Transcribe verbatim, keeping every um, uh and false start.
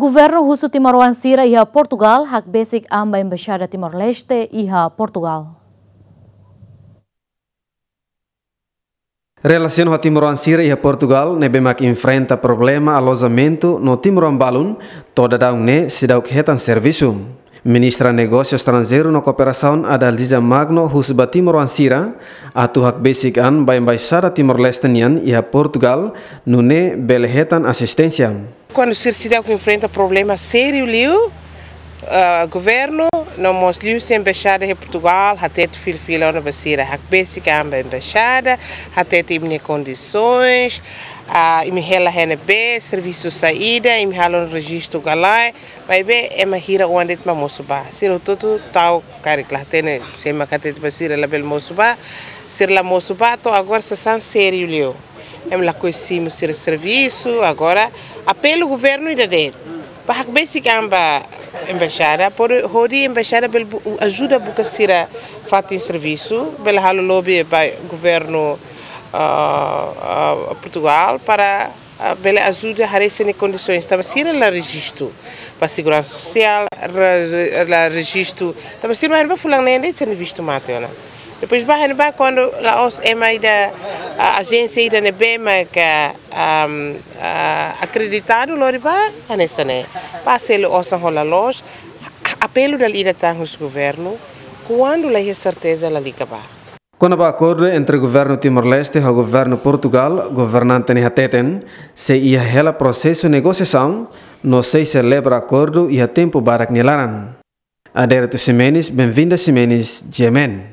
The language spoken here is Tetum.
Governu husu timoroan sira iha Portugal hakbesik an ba Embaixada Timor-Leste iha Portugal. Relasiona ho timoroan sira iha Portugal ne'ebé mak enfrenta problema alojamentu no timoroan balun to'o daudaun ne'e seidauk hetan servisu. Ministra Negósiu Estranjeiru no Kooperasaun Adalgisa Magno husu ba timoroan sira atu hakbesik an ba Embaixada Timor-Leste nian iha Portugal nune'e bele hetan asisténsia. Kuandu sira seidauk enfrenta problema sériu liu, ah, governu no mós liuhusi embaixada iha Portugal hatete fila-fila ona ba sira hakbesik an ba embaixada, hatete imi-nia kondisoens, ah, imi hela iha ne'ebé, servisu saida, imi halo rejistu ka lae, maibé ema hira oan de'it mak mosu bá. Sira hotu-hotu tau karik la hatene, sé mak hatete ba sira labele mosu bá, sira la mosu bá, to'o agora sasán sériu liu. Ema lakohi simu sira servisu, agora apelu governu ida de'it. Ba hakbesik an ba embaixada, por hodi embaixada bele bu-, ajuda buka sira fatin servisu, bele halo lobby ba governu, ah, ah, Portugal para, ah, bele ajuda haree sira-nia kondisoens. Tanba sira la rejistu ba seguransa sosiál, re-, re-, la rejistu. Tanba sira mai ba fulan neen de'it sira-nia vistu mate ona. Depois ba, hein ba kuandu la'ós ema ida, ah, ajénsia ida ne'ebé mak, ah, am, ah, akreditadu lori ba, hanesan ne'e. Ba selu osan hola loos, a-, apelu dala ida tan husi governu, kuandu la iha serteza lalika bá. Kona-ba akordu entre governu Timor-Leste ho governu Portugal, governante ne'e hateten, sei iha hela prosesu negosiasaun, no sei selebra akordu iha tempu badak nia laran. Adérito Ximenes, Benvinda Ximenes, G M N.